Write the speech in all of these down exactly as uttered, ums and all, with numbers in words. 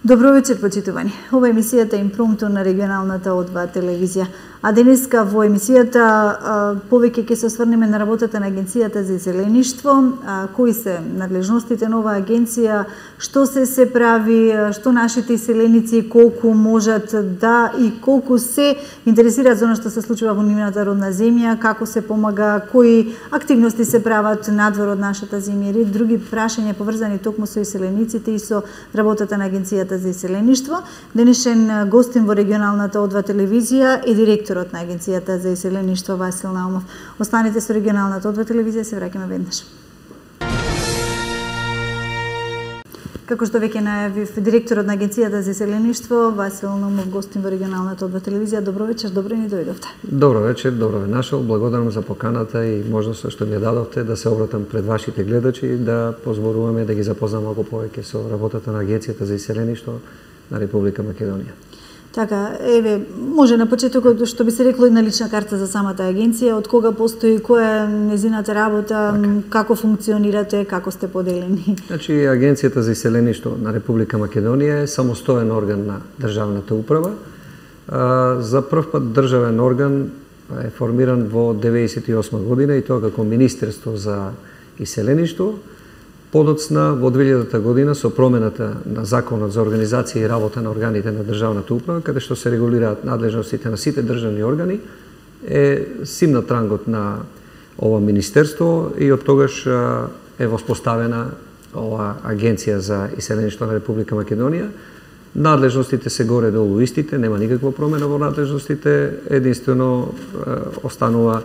Добро вечер, почитувани. Ова е емисијата Импромто на регионалната О два телевизија. А денеска во емисијата повеќе ќе се осврнеме на работата на Агенцијата за иселеништво, кои се надлежностите на оваа агенција, што се се прави, што нашите иселеници колку можат да и колку се интересираат за она што се случува во нивната родна земја, како се помага, кои активности се прават надвор од нашата земја и други прашања поврзани токму со иселениците и со работата на Агенцијата за иселеништво. Денешен гостин во регионалната О два телевизија е директорот на Агенцијата за иселеништво Васил Наумов. Останете со регионалната О два телевизија, се враќаме веднаш. Како што веќе најавив, директорот на Агенцијата за иселеништво Васил Наумов гостин во регионалната О два телевизија. Добро вечер, добро ни дојдовте. Добро вечер, добро ве нашол. Благодарам за поканата и можноста што ми ја дадовте да се обратам пред вашите гледачи и да позборуваме, да ги запознам малку повеќе со работата на Агенцијата за иселеништво на Република Македонија. Така, еве, може на почетокот што би се рекло една лична карта за самата агенција, од кога постои, која е незината работа, така, како функционирате, како сте поделени? Значи, Агенцијата за иселеништво на Република Македонија е самостоен орган на државната управа. За прв пат државен орган е формиран во деветдесет и осма година и тоа како Министерство за иселеништво. Подоцна во две илјадата година со промената на Законот за организација и работа на органите на државната управа, каде што се регулираат надлежностите на сите државни органи, е симнат рангот на ова министерство и од тогаш е воспоставена ова Агенција за иселеништво на Република Македонија. Надлежностите се горе-долу истите, нема никаква промена во надлежностите, единствено останува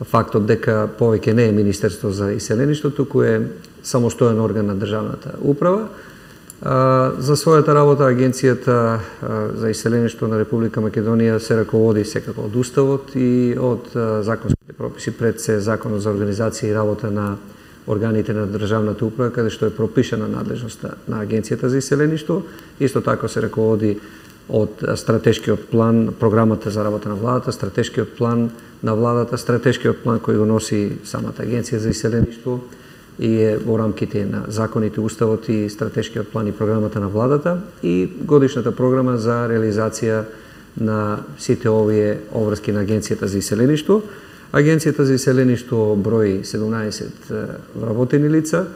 фактот дека повеќе не е Министерство за иселеништво, туку е самостоен орган на државната управа. За својата работа Агенцијата за иселеништво на Република Македонија се раководи секако од Уставот и од законските прописи, пред се Законот за организација и работа на органите на државната управа, каде што е пропишана надлежноста на Агенцијата за иселеништво. Исто така се раководи од стратешкиот план, програмата за работа на владата, стратешкиот план на владата, стратешкиот план кој го носи самата Агенција за иселеништво и е во рамките на законите, уставот и стратешкиот план и програмата на владата и годишната програма за реализација на сите овие обврски на Агенцијата за иселеништво. Агенцијата за иселеништво брои седумнаесет вработени лица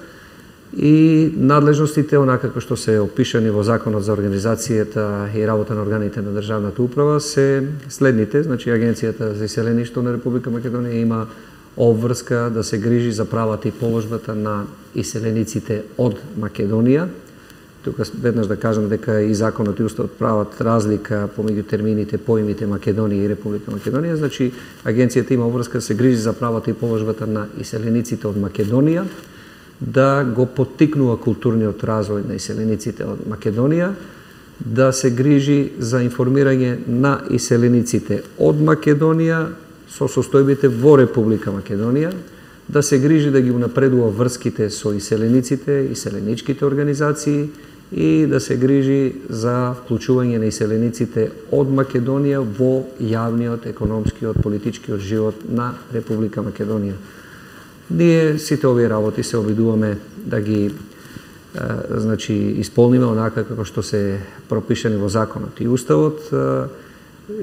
и надлежностите, онака како што се опишани во Законот за организацијата и работа на органите на државната управа, се следните. Значи, Агенцијата за иселеништво на Република Македонија има обврска да се грижи за правата и положбата на иселениците од Македонија. Тука веднаш да кажам дека и Законот и Уставот прават разлика помеѓу термините, поимите Македонија и Република Македонија. Значи, Агенцијата има обврска да се грижи за правата и положбата на иселениците од Македонија, да го поттикнува културниот развој на иселениците од Македонија, да се грижи за информирање на иселениците од Македонија со состојбите во Република Македонија, да се грижи да ги унапредува врските со иселениците, иселеничките организации и да се грижи за вклучување на иселениците од Македонија во јавниот, економскиот, политичкиот живот на Република Македонија. Ние сите овие работи се обидуваме да ги е, значи исполниме онака како што се пропишани во законот и уставот е,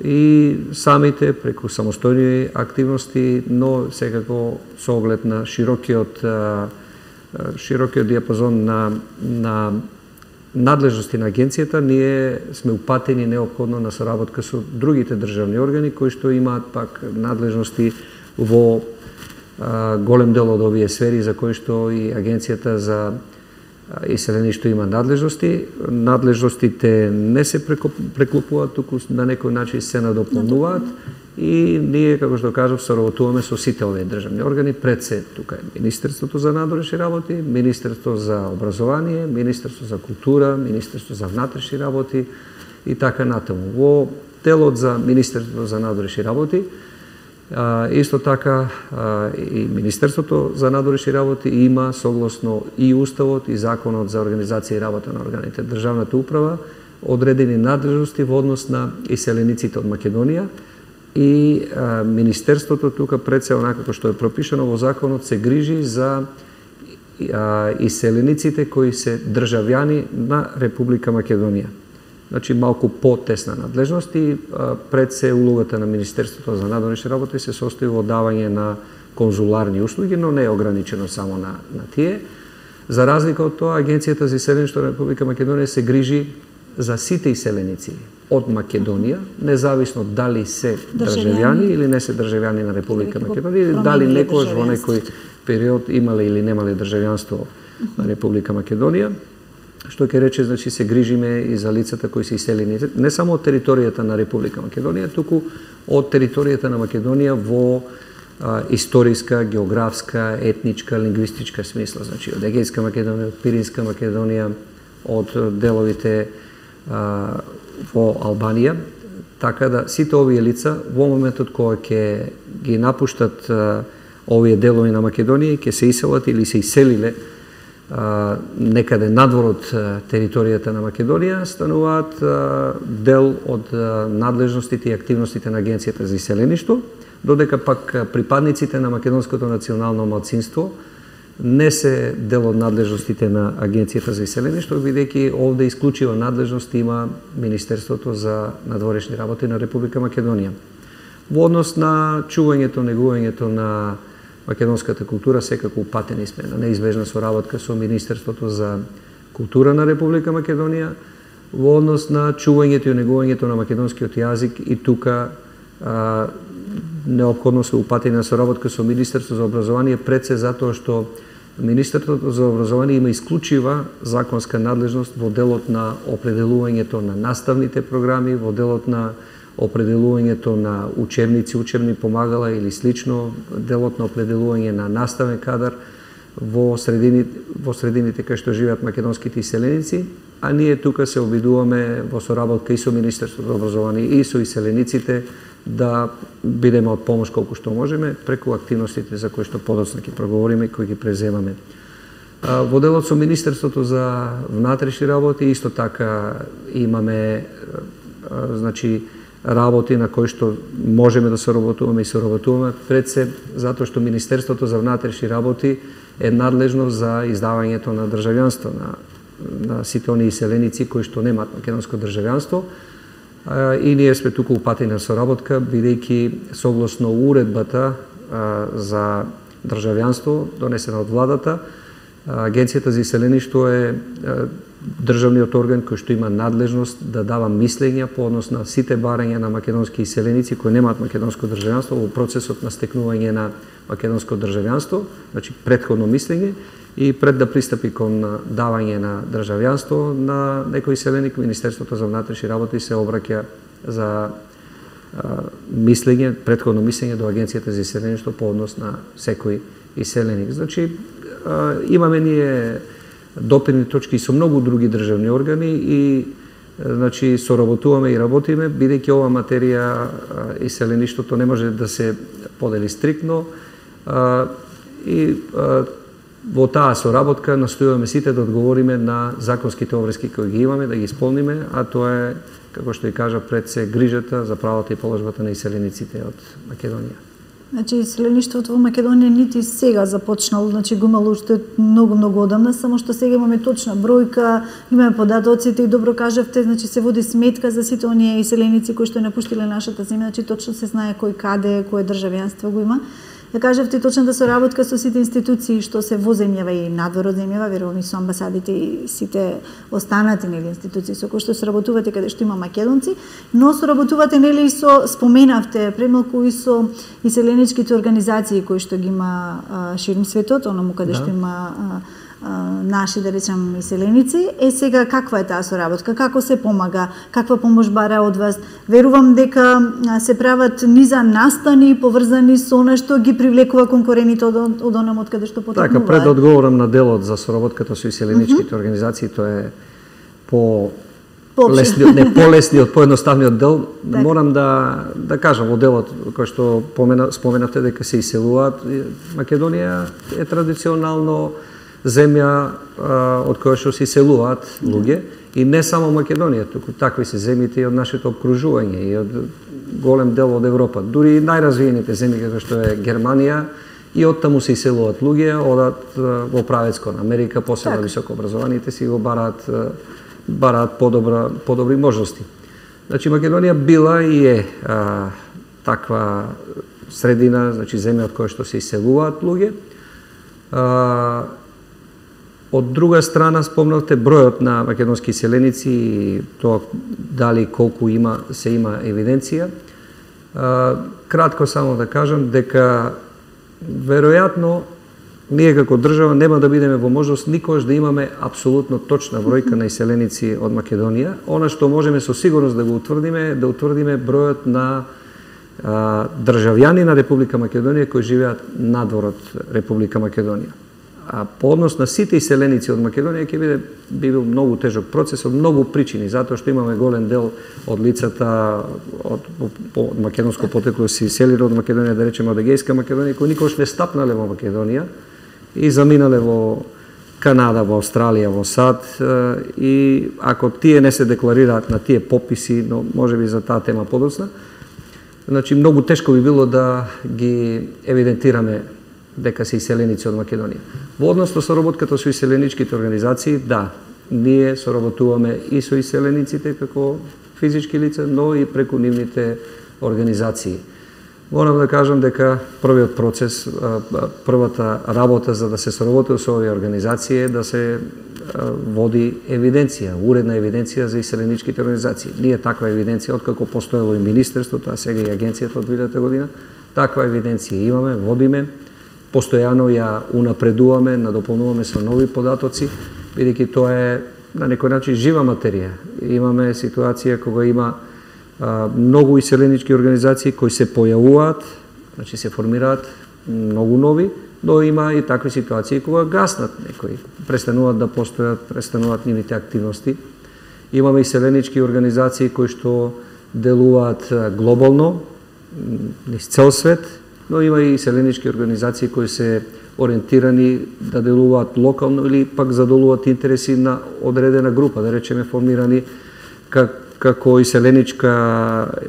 и самите преку самостојни активности, но секако со оглед на широкиот е, широкиот диапазон на на надлежности на агенцијата, ние сме упатени неопходно на соработка со другите државни органи кои што имаат пак надлежности во голем дел од овие сфери за кои што и Агенцијата за иселеништво има надлежности. Надлежностите не се преклопуваат, туку на некој начин се надополнуваат и ние, како што кажав, соработуваме со сите овие државни органи. Пред се тука е Министерството за надворешни работи, Министерство за образование, Министерство за култура, Министерство за внатрешни работи и така натаму. Во делот за Министерството за надворешни работи А, исто така а, и Министерството за надворешни работи има согласно и Уставот и Законот за организација и работа на органите државната управа одредени надлежности во однос на иселениците од Македонија. и а, Министерството тука пред се онака како што е пропишано во законот се грижи за а, иселениците кои се државјани на Република Македонија. Значи малку потесна надлежност и а, пред се улогата на Министерството за надворешни работи се состои во давање на конзуларни услуги, но не е ограничено само на, на тие. За разлика од тоа, Агенцијата за иселеништво на Република Македонија се грижи за сите иселеници од Македонија, независно дали се државјани или не се државјани на Република Македонија, или дали некојаш во некој период имале или немале државјанство на Република Македонија, што ќе рече, значи, се грижиме и за лицата кои се иселени не само од територијата на Република Македонија, туку од територијата на Македонија во а, историска, географска, етничка, лингвистичка смисла, значи од Егејска Македонија, од Пиринска Македонија, од деловите а, во Албанија, така да сите овие лица во моментот кога ќе ги напуштат а, овие делови на Македонија, ќе се иселат или се иселиле а, некаде надвор од а, територијата на Македонија, стануваат а, дел од а, надлежностите и активностите на Агенцијата за иселеништво, додека пак а, припадниците на македонското национално малцинство не се дел од надлежностите на Агенцијата за иселеништво, бидејќи овде исклучива надлежност има Министерството за надворешни работи на Република Македонија. Во однос на чувањето, негувањето на македонската култура, секако упатени сме на неизбежна соработка со Министерството за култура на Република Македонија. Во однос на чувањето и негувањето на македонскиот јазик и тука а, неопходно се упатени на соработка со Министерството за образование, пред се затоа што Министерството за образование има исклучива законска надлежност во делот на определувањето на наставните програми, во делот на определувањето на учебници, учебни помагала или слично, делот на определување на наставен кадар во средини, во средините кај што живеат македонските иселеници, а ние тука се обидуваме во соработка и со Министерството за образование и со иселениците да бидеме од помош колку што можеме преку активностите за кои што подоцна ќе проговориме и кои ги преземаме. Во делот со Министерството за внатрешни работи исто така имаме значи работи на кои што можеме да соработуваме и соработуваме пред се затоа што Министерството за внатрешни работи е надлежно за издавањето на државјанство на, на сите оние иселеници кои што немаат македонско државјанство. И ние сме туку упатени на соработка, бидејќи согласно уредбата а, за државјанство донесена од владата, Агенцијата за иселеништво е а, државниот орган кој што има надлежност да дава мислења по однос на сите барања на македонски иселеници кои немаат македонско државјанство во процесот на стекнување на македонско државјанство, значи претходно мислење, и пред да пристапи кон давање на државјанство на некој иселеник, Министерството за внатрешни работи се обраќа за а, мислење, претходно мислење до Агенцијата за иселеништво по однос на секој иселеник. Значи, а, имаме ние допирни точки со многу други државни органи и значи соработуваме и работиме, бидејќи ова материја иселеништвото не може да се подели стриктно а, и а, во таа соработка настојуваме сите да одговориме на законските обврски кои ги имаме, да ги исполниме, а тоа е, како што и кажа, пред се грижата за правата и положбата на иселениците од Македонија. Значи, иселеништвото во Македонија нити сега започнало, значи го имало уште многу многу одамна, само што сега имаме точна бројка, имаме податоците и добро кажавте, значи се води сметка за сите оние иселеници кои што напуштиле нашата земја, значи точно се знае кој каде, кое државјанство го има. Да кажавте точната соработка со сите институции што се во земјава и надвор од земјава, верувам и со амбасадите и сите останати нели институции со кои што соработувате каде што има македонци, но соработувате нели и со, споменавте премалку и со иселеничките организации кои што ги има а, ширум светот, оному каде да. Што има а, наши, да речем, иселеници. Е, сега, каква е таа соработка? Како се помага? Каква помош бара од вас? Верувам дека се прават низа настани поврзани со нешто ги привлекува конкурените од, од онам од каде што потекнуваат. Така, пред да одговорам на делот за соработката со иселеничките mm -hmm. организации, тоа е по лесниот, не полесниот, поедноставниот дел. Так. Морам да да кажам во делот кој што помена, споменавте дека се иселуваат, Македонија е традиционално земја од која што се иселуваат луѓе, и не само Македонија, туку такви се земјите и од нашето обкружување и од голем дел од Европа, дури и најразвиените земји како што е Германија, и оттаму се иселуваат луѓе, одат во правец кон Америка, посебно високо образованите си го бараат бараат подобра подобри можности. Значи Македонија била и е а, таква средина, значи земја од која што се иселуваат луѓе. А, од друга страна спомнавте бројот на македонски иселеници и тоа дали колку има се има евиденција. А, кратко само да кажам дека веројатно ние како држава нема да бидеме во можност никогаш да имаме апсолутно точна бројка на иселеници од Македонија. Она што можеме со сигурност да го утврдиме е да утврдиме бројот на а, државјани на Република Македонија кои живеат надвор од Република Македонија. А по однос на сите иселеници од Македонија ќе биде би бил многу тежок процес од многу причини, затоа што имаме голем дел од лицата од, од македонско потекло се иселиле од Македонија, да речеме од Егејска Македонија, кои никогаш не стапнале во Македонија и заминале во Канада, во Австралија, во САД, и ако тие не се декларираат на тие пописи, но можеби за таа тема подоцна, значи многу тешко би било да ги евидентираме дека се иселеници од Македонија. Во однос на соработката со иселеничките организации, да, ние соработуваме и со иселениците како физички лица, но и преку нивните организации. Морам да кажам дека првиот процес, првата работа за да се соработува со овие организации е да се води евиденција, уредна евиденција за иселеничките организации. Ние таква евиденција, откако постоело и Министерството, а сега и Агенцијата од две илјадета година, таква евиденција имаме, водиме, постојано ја унапредуваме, надополнуваме со нови податоци, бидејќи тоа е на некој начин жива материја. Имаме ситуација кога има а, многу иселенички организации кои се појавуваат, значи се формираат многу нови, но има и такви ситуации кога гаснат некои, престануваат да постојат, престануваат нивните активности. Имаме иселенички организации кои што делуваат глобално, низ цел свет, но има и иселенички организации кои се ориентирани да делуваат локално или пак задолуваат интереси на одредена група, да речеме формирани как, како иселеничка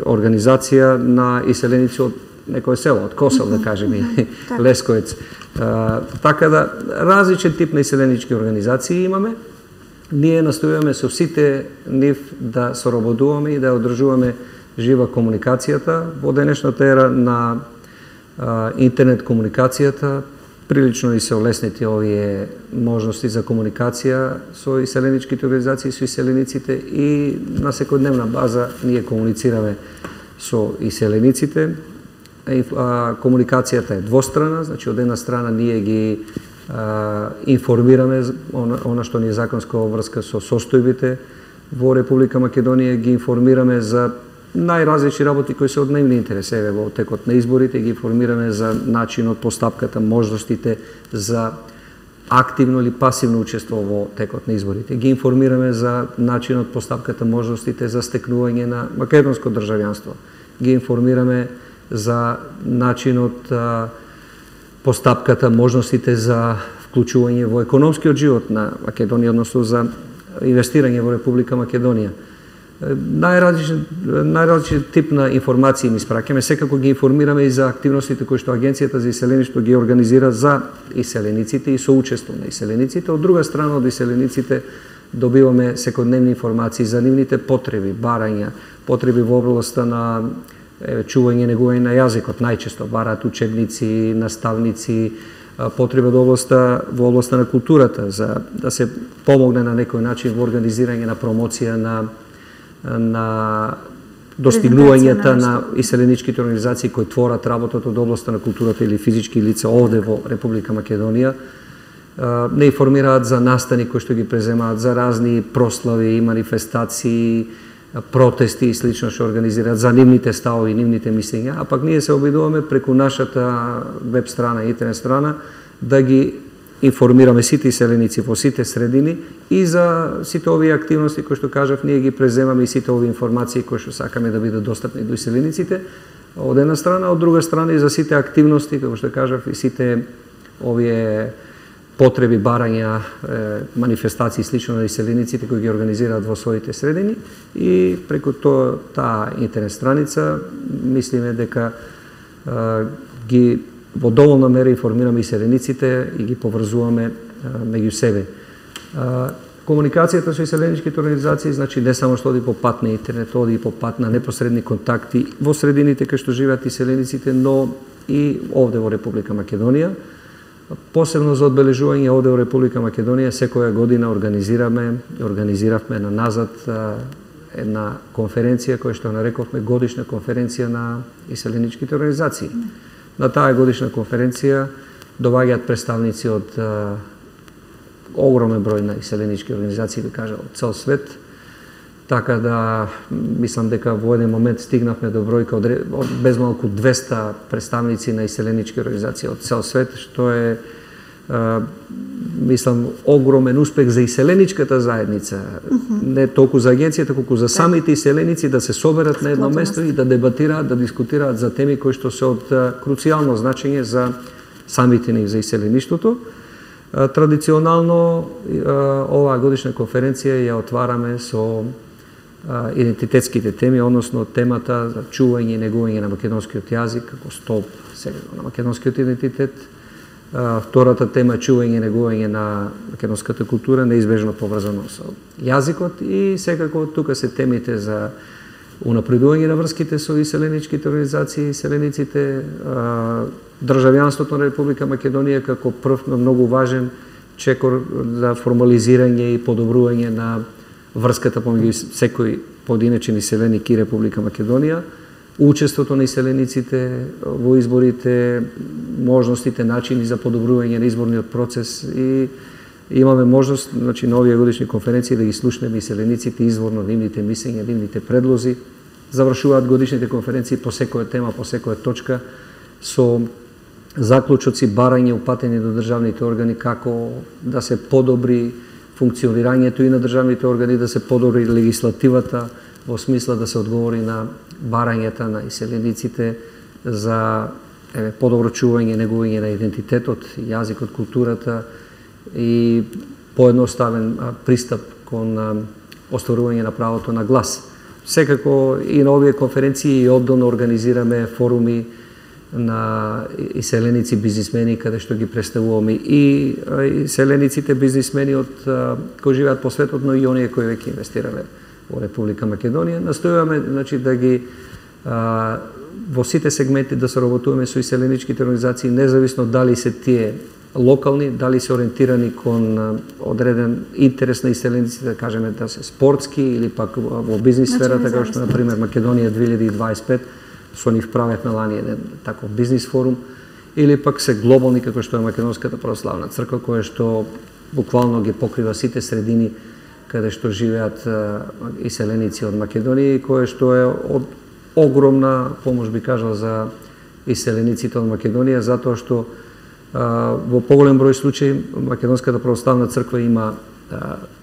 организација на иселеници од некој село, од Косел, да кажеме, Лесковец. А, така да, различен тип на иселенички организации имаме. Ние настојуваме со сите нив да соработуваме и да одржуваме жива комуникацијата во денешната ера на а, интернет комуникацијата. Прилично и се олеснети овие можности за комуникација со иселеничките организации, со иселениците, и на секојдневна база ние комуницираме со иселениците. А, комуникацијата е двострана, значи од една страна ние ги а, информираме она, она што ни е законска обврска со состојбите во Република Македонија, ги информираме за најразлични работи кои се од најмни интерес. Еве, во текот на изборите ги информираме за начинот, постапката, можностите за активно или пасивно учество во текот на изборите. Ги информираме за начинот, постапката, можностите за стекнување на македонско државјанство. Ги информираме за начинот, постапката, можностите за вклучување во економскиот живот на Македонија, односно за инвестирање во Република Македонија. Најразличен, најразличен тип на информации ни испраќаме, секако ги информираме и за активностите кои што Агенцијата за иселеништво ги организира за иселениците и соучество на иселениците. Од друга страна, од иселениците добиваме секојдневни информации за нивните потреби, барања, потреби во областта на е, чување, негување на јазикот, најчесто бараат учебници, наставници, потреба во областта, во областта на културата, за да се помогне на некој начин во организирање на промоција на на достигнувањата на иселеничките организации кои творат работата од областта на културата или физички лица овде во Република Македонија. Не информираат за настани кои што ги преземаат, за разни прослави и манифестации, протести и слично што организираат, за нивните ставови, нивните мислења, а пак ние се обидуваме преку нашата веб страна, интернет страна, да ги информираме сите иселеници во сите средини и за сите овие активности кои што кажав, ние ги преземаме и сите овие информации кои што сакаме да бидат достапни до иселениците од една страна, од друга страна и за сите активности, како што кажав, и сите овие потреби, барања, манифестации слично на иселениците кои ги организираат во своите средини и преку тоа таа интернет страница мислиме дека ги во доволна мера информираме иселениците и ги поврзуваме меѓу себе. Комуникацијата со иселеничките организации значи не само што оди по пат на интернет, оди и по пат на непосредни контакти во средините кај што живеат иселениците, но и овде во Република Македонија. Посебно за одбележување овде во Република Македонија секоја година организираме, организиравме на назад една конференција која што нарековме годишна конференција на иселеничките организации. На таа годишна конференција доаѓаат представници од огромен број на иселенички организации, да кажа, од цел свет. Така да, мислам дека во еден момент стигнавме до бројка од без малку двеста представници на иселенички организации од цел свет, што е, а, мислам, огромен успех за иселеничката заедница. Mm-hmm. Не толку за агенцијата, колку за самите иселеници да се соберат на едно место и да дебатираат, да дискутираат за теми кои што се од круцијално значење за самите нив, за иселеништвото. Традиционално оваа годишна конференција ја отвараме со идентитетските теми, односно темата за чување и негување на македонскиот јазик како столб на македонскиот идентитет. Втората тема е чување и негување на македонската култура, неизбежно поврзано со јазикот и секако тука се темите за унапредување на врските со иселеничките организации, иселениците, државјанството на Република Македонија како прв, но многу важен чекор за формализирање и подобрување на врската помеѓу секој поединечен иселеник и Република Македонија, учеството на иселениците во изборите, можностите, начини за подобрување на изборниот процес и имаме можност, значи, на овие годишни конференции да ги слушнеме иселениците изворно, нивните мислења, нивните предлози. Завршуваат годишните конференции по секоја тема, по секоја точка со заклучоци, барање, упатени до државните органи како да се подобри функционирањето и на државните органи, да се подобри легислативата во смисла да се одговори на барањата на иселениците за еве, подобро чување, негување на идентитетот, јазикот, културата и поедноставен пристап кон остварување на правото на глас. Секако и на овие конференции и обдолно организираме форуми на иселеници бизнисмени каде што ги представуваме и иселениците бизнисмени од кои живеат по светот, но и оние кои веќе инвестирале во Република Македонија. Настојуваме, значи, да ги а, во сите сегменти да соработуваме со иселеничките организации, независно дали се тие локални, дали се ориентирани кон одреден интерес на иселениците, да кажеме да се спортски или пак во бизнис сферата, како што например Македонија две илјади дваесет и пет, со нив правевме лани еден таков бизнис форум, или пак се глобални како што е Македонската православна црква, која што буквално ги покрива сите средини каде што живеат иселеници од Македонија и кое што е од огромна помош, би кажал, за иселениците од Македонија, затоа што во поголем број случаи Македонската православна црква има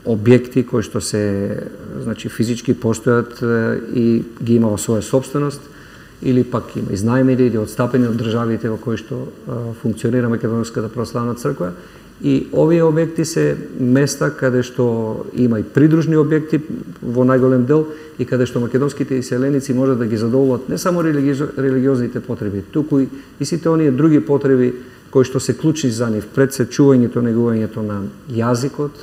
објекти кои што се, значи, физички постојат и ги има во своја собственост, или пак има изнајмени или отстапени од државите во кои што функционира Македонската православна црква. И овие објекти се места каде што има и придружни објекти во најголем дел и каде што македонските иселеници можат да ги задоволат не само религиозните потреби, туку и сите оние други потреби кои што се клучни за нив, пред се чувањето, негувањето на јазикот,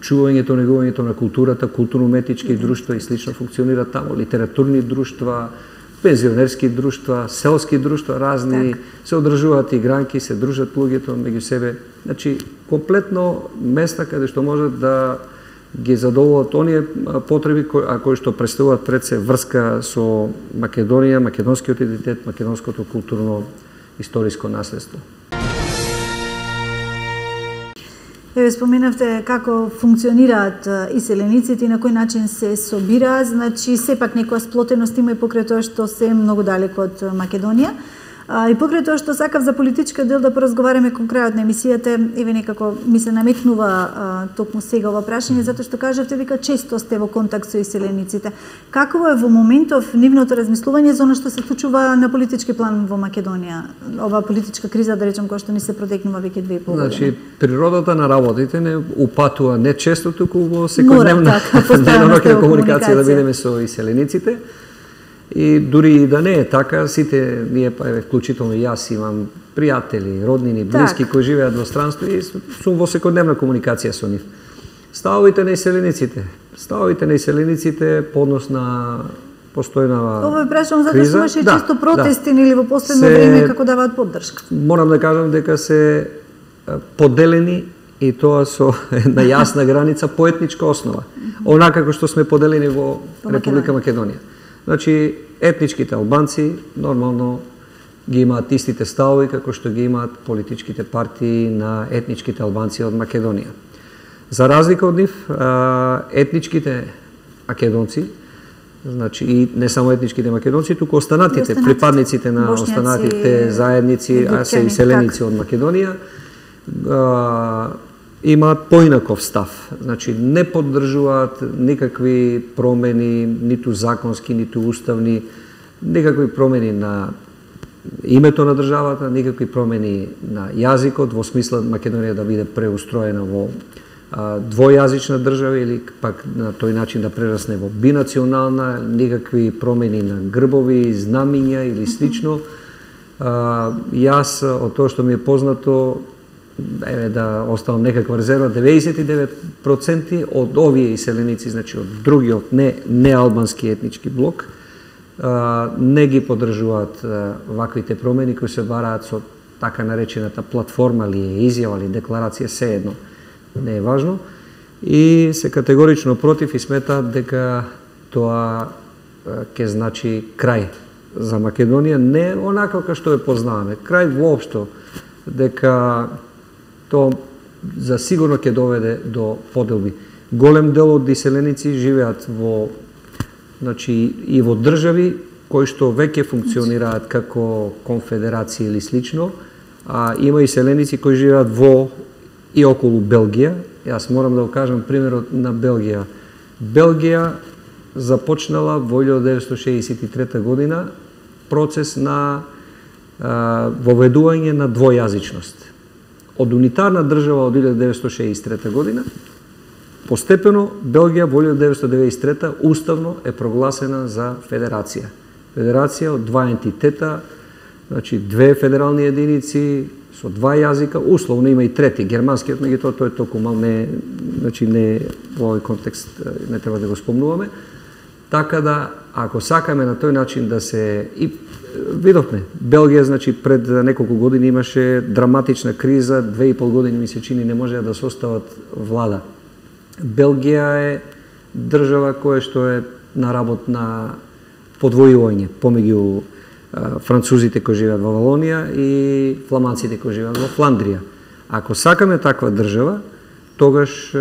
чувањето, негувањето на културата, културно-уметнички друштва и слично функционираат таму, литературни друштва, пензионерски друштва, селски друштва, разни, так. Се одржуваат игранки, се дружат луѓето меѓу себе. Значи, комплетно места каде што можат да ги задоволат оние потреби кои, а кои што представуваат пред се врска со Македонија, македонскиот идентитет, македонското културно историско наследство. Еве, споменавте како функционираат иселениците и на кој начин се собираат, значи сепак некоја сплотеност има и покрај тоа што се многу далеко од Македонија. И покрај тоа што сакав за политичка дел да поразговараме кон крајот на емисијата, еве некако ми се наметнува токму сега ова прашање, затоа што кажавте дека често сте во контакт со иселениците. Какво е во моментов нивното размислување за она што се случува на политички план во Македонија? Ова политичка криза, да речем, која што ни се протекнува веќе две и пол години. Значи, природата на работите не упатува не често, туку во секојдневна деноноќна комуникација да бидеме со иселениците. И дури и да не е така, сите ние, па еве вклучително и јас имам пријатели, роднини, блиски так, кои живеат во странство и сум во секојдневна комуникација со нив. Ставовите на иселениците, ставовите на иселениците по однос на постојнава Ова е прашувам затоа што имаше да, често протести да. Или во последно се, време како даваат поддршка. Морам да кажам дека се поделени и тоа со една јасна граница по етничка основа. Онака како што сме поделени во Република Македонија. Значи, етничките албанци нормално ги имаат истите ставови како што ги имаат политичките партии на етничките албанци од Македонија. За разлика од нив, етничките македонци, значи и не само етничките македонци, туку останатите, припадниците на бошњаци, останатите заедници, а се иселеници од Македонија, имаат поинаков став. Значи, не поддржуваат никакви промени, ниту законски, ниту уставни, никакви промени на името на државата, никакви промени на јазикот, во смисла Македонија да биде преустроена во а, двојазична држава или пак на тој начин да прерасне во бинационална, никакви промени на грбови, знамиња или слично. А, јас, од тоа што ми е познато, еве да оставам некаква резерва, деветдесет и девет проценти од овие иселеници, значи од другиот не не албански етнички блок, а, не ги поддржуваат ваквите промени кои се бараат со така наречената платформа или изјава или декларација, се едно, не е важно, и се категорично против и сметаат дека тоа ќе значи крај за Македонија, не онака како што е познаваме, крај воопшто, дека тоа за сигурно ќе доведе до поделби. Голем дел од иселеници живеат во, значи, и во држави кои што веќе функционираат како конфедерација или слично, а има иселеници кои живеат во и околу Белгија. Јас морам да го кажам примерот на Белгија. Белгија започнала во илјада деветстотини шеесет и трета година процес на а, воведување на двојазичност. Од унитарна држава од илјада деветстотини шеесет и трета година, постепено Белгија во илјада деветстотини деветдесет и трета уставно е прогласена за федерација. Федерација од два ентитета, значи две федерални единици со два јазика, условно има и трети, германскиот, меѓутоа тој е толку мал, не, значи не во овој контекст не треба да го спомнуваме. Така да, ако сакаме на тој начин да се и видовме, Белгија, значи, пред неколку години имаше драматична криза, две и пол години ми се чини не можеа да состават влада. Белгија е држава која што е на работ на подвојување помеѓу французите кои живеат во Валонија и фламанците кои живеат во Фландрија. Ако сакаме таква држава, тогаш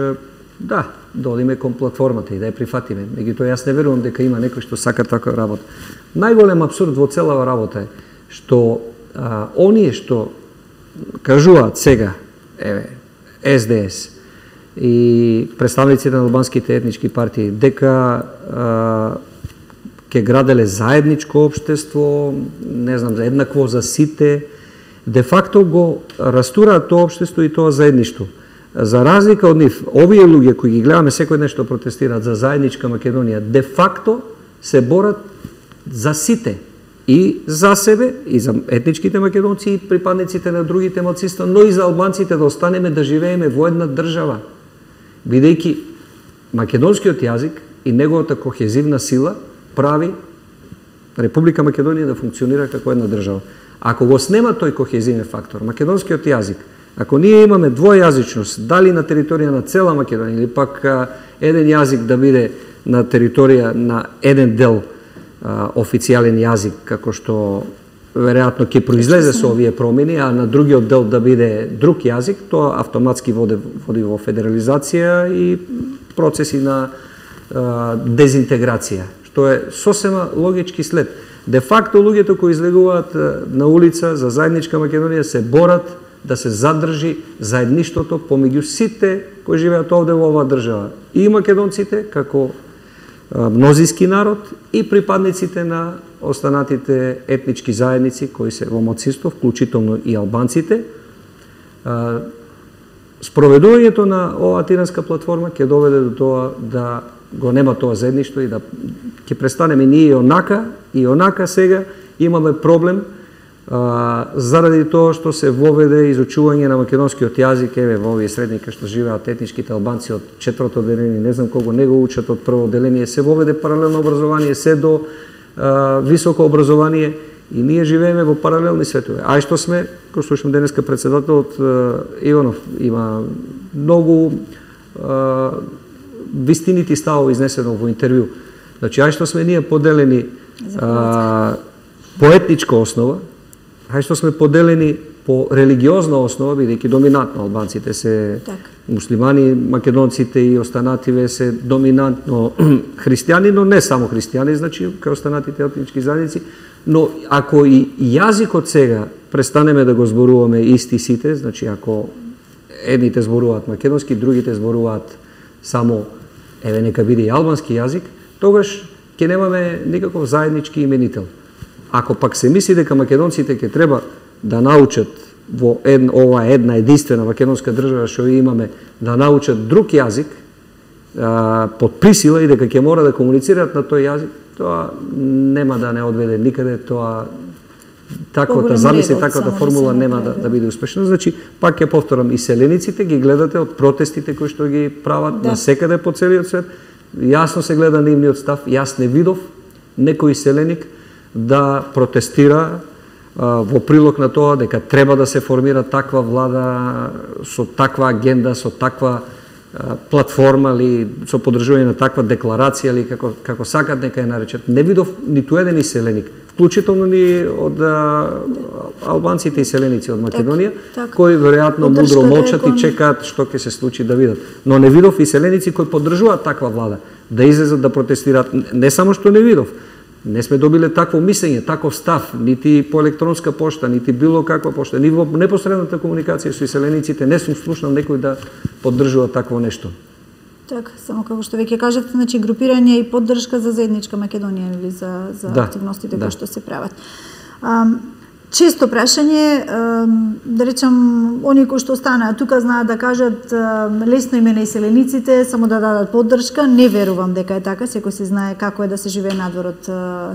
да, да одиме кон платформата и да ја прифатиме. Меѓутоа јас не верувам дека има некој што сака таква работа. Најголем абсурд во целава работа е што а, оние што кажуваат сега, еве, Ес Де Ес и представниците на албанските етнички партии дека а, ке граделе заедничко општество, не знам, еднакво за сите, де факто го растураат тоа општество и тоа заедништво. За разлика од нив, овие луѓе кои ги гледаме секој ден што протестираат за заедничка Македонија, де факто се борат за сите, и за себе, и за етничките македонци, и припадниците на другите малцинства, но и за албанците да останеме да живееме во една држава. Бидејќи македонскиот јазик и неговата кохезивна сила прави Република Македонија да функционира како една држава. Ако го снема тој кохезивен фактор, македонскиот јазик, ако ние имаме двојазичност, дали на територија на цела Македонија, или пак а, еден јазик да биде на територија на еден дел а, официјален јазик, како што веројатно ќе произлезе со овие промени, а на другиот дел да биде друг јазик, тоа автоматски води, води во федерализација и процеси на а, дезинтеграција, што е сосема логички след. Де факто луѓето кои излегуваат на улица за заедничка Македонија се борат да се задржи заедништвото помеѓу сите кои живеат овде во оваа држава. И македонците како мнозински народ и припадниците на останатите етнички заедници кои се во малцинство, вклучително и албанците. Спроведувањето на оваа тиранска платформа ќе доведе до тоа да го нема тоа заедништво и да ќе престанеме ние и онака и онака сега имаме проблем а, заради тоа што се воведе изучување на македонскиот јазик, еве во овие средника што живеат етничките албанци од четврто одделение, не знам колку не го учат од прво одделение, се воведе паралелно образование, се до а, високо образование и ние живееме во паралелни светови. Ај што сме, кој слушам денеска председателот Иванов има многу а, вистинити ставови изнесено во интервју. Значи, ај што сме ние поделени а, по етничка основа, ај што сме поделени по религиозна основа, бидејќи доминантно албанците се так. Муслимани, македонците и останативе се доминантно христијани, но не само христијани, значи, кај останатите етнички заедници, но ако и јазикот сега престанеме да го зборуваме исти сите, значи, ако едните зборуваат македонски, другите зборуваат само, еве, нека биде и албански јазик, тогаш ќе немаме никаков заеднички именител. Ако пак се мисли дека македонците ќе треба да научат во ед, ова една единствена македонска држава што имаме, да научат друг јазик а, под присила и дека ќе мора да комуницираат на тој јазик, тоа нема да не одведе никаде, тоа таквата замисли, таквата формула нема да, да биде успешна. Значи, пак ќе повторам, и селениците ги гледате од протестите кои што ги прават да. Насекаде по целиот свет, јасно се гледа нивниот став, јас не видов некој селеник да протестира а, во прилог на тоа дека треба да се формира таква влада со таква агенда, со таква а, платформа или со поддржување на таква декларација или како како сакат нека ја наречат. Не видов ниту еден селеник, вклучително ни од а, албанците и селеници од Македонија, так, так. кои веројатно мудро молчат и чекаат што ќе се случи да видат. Но не видов и селеници кои поддржуваат таква влада да излезат да протестираат. Не само што не видов, не сме добиле такво мислење, таков став, нити по електронска пошта, нити било каква пошта, ни во непосредната комуникација со селениците не сум слушнал некој да поддржува такво нешто. Так, само како што веќе кажавте, значи групирање и поддршка за заедничка Македонија или за за да, активностите да. Кои што се прават. Um, Често прашање, да речам, они кои што останаат тука знаат да кажат лесно име на иселениците, само да дадат поддршка. Не верувам дека е така, секој се знае како е да се живее надвор од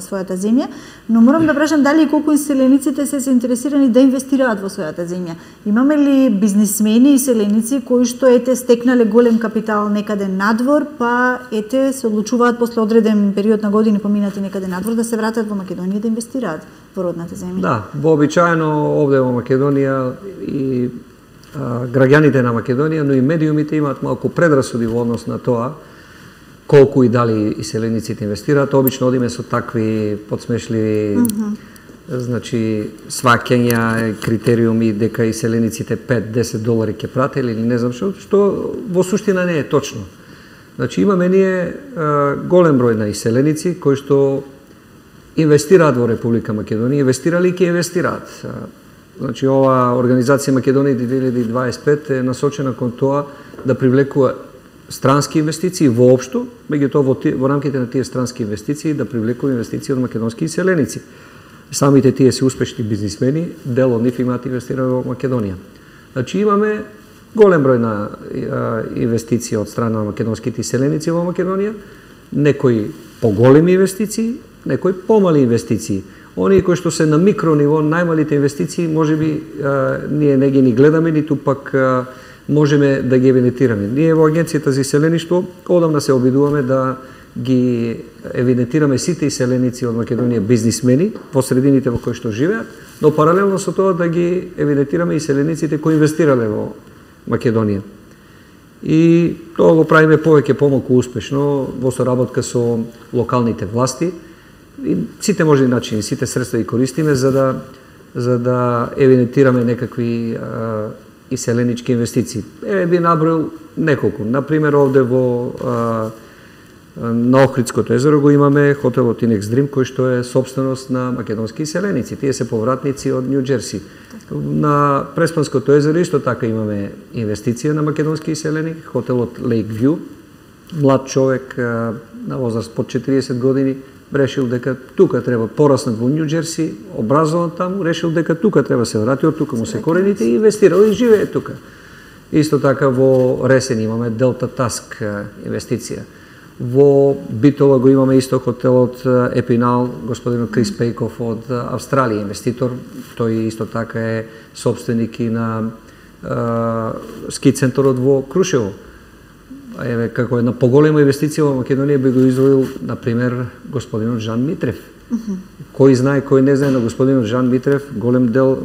својата земја, но морам да прашам дали и колку иселениците се заинтересирани да инвестираат во својата земја. Имаме ли бизнисмени и иселеници кои што ете стекнале голем капитал некаде надвор, па ете се одлучуваат после одреден период на години поминати некаде надвор да се вратат во Македонија да инвестираат во родната земја? Да, вообичаено овде во Македонија и а, граѓаните на Македонија, но и медиумите имаат малку предрасуди во однос на тоа колку и дали иселениците инвестираат. Обично одиме со такви подсмешливи mm -hmm. значи сваќања, критериуми дека иселениците пет до десет долари ќе пратели или не знам што, што во суштина не е точно. Значи имаме ние а, голем број на иселеници кои што инвестираат во Република Македонија, инвестирали и ќе инвестираат. Значи, ова Организација Македонија две илјади дваесет и пет е насочена кон тоа да привлекува странски инвестиции воопшто, меѓутоа во, во рамките на тие странски инвестиции да привлекува инвестиции од македонски иселеници. Самите тие се успешни бизнисмени, дел од нив имаат инвестирано во Македонија. Значи, имаме голем број на инвестиции од страна на македонските иселеници во Македонија, некои поголеми инвестиции, некои помали инвестиции. Оние кои што се на микро ниво, најмалите инвестиции, можеби ние не ги ни гледаме, ниту пак а, можеме да ги евидентираме. Ние во Агенцијата за иселеништво одамна се обидуваме да ги евидентираме сите иселеници од Македонија бизнисмени во средините во кои што живеат, но паралелно со тоа да ги евидентираме иселениците кои инвестирале во Македонија. И тоа го правиме повеќе помалку успешно во соработка со локалните власти. И сите можни начини, сите средства ги користиме за да за да евидентираме некакви а, иселенички инвестиции. Еве би наброил неколку. На пример овде во а, На Охридското езеро го имаме хотелот Inex Dream, кој што е собственост на македонски иселеници. Тие се повратници од Нью Џерси. На Преспанското езеро исто така имаме инвестиција на македонски иселеник, хотелот Lake View. Млад човек на возраст под четириесет години решил дека тука треба пораснат во Нью Џерси, образован таму, решил дека тука треба се врати, од тука му се корените и инвестирал и живее тука. Исто така во Ресен имаме Delta Task инвестиција. Во Битола го имаме исто хотелот Епинал, господинот Крис Пейков од Австралија, инвеститор. Тој исто така е собственик и на е, ски центарот во Крушево. Еве, како една поголема инвестиција во Македонија би го издвоил, например, господинот Жан Митрев. Uh -huh. Кој знае, кој не знае на господинот Жан Митрев, голем дел,